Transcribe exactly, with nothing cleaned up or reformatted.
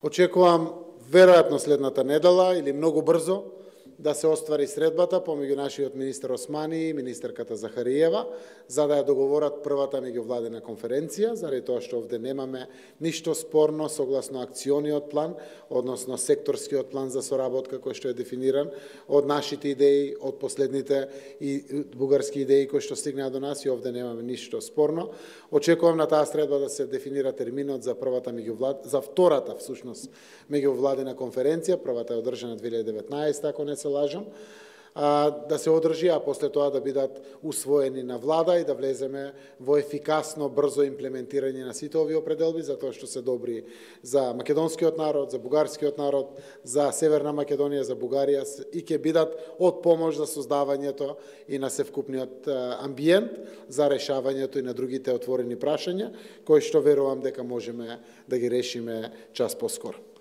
Очекувам веројатно следната недела или многу брзо да се оствари средбата помеѓу нашиот министер Османи и министерката Захариева, за да ја договорат првата меѓувладина конференција, заради тоа што овде немаме ништо спорно согласно акциониот план, односно секторскиот план за соработка кој што е дефиниран од нашите идеи, од последните и бугарски идеи кои што стигнаа до нас, и овде немаме ништо спорно. Очекувам на таа средба да се дефинира терминот за првата меѓувлад за втората всушност меѓувладина конференција, првата е одржана две илјади и деветнаесета, ако не се лажам, да се одржи, а после тоа да бидат усвоени на влада и да влеземе во ефикасно, брзо имплементирање на сите овие определби, затоа што се добри за македонскиот народ, за бугарскиот народ, за Северна Македонија, за Бугарија и ќе бидат од помош за создавањето и на севкупниот амбиент за решавањето и на другите отворени прашања, кои што верувам дека можеме да ги решиме час поскоро.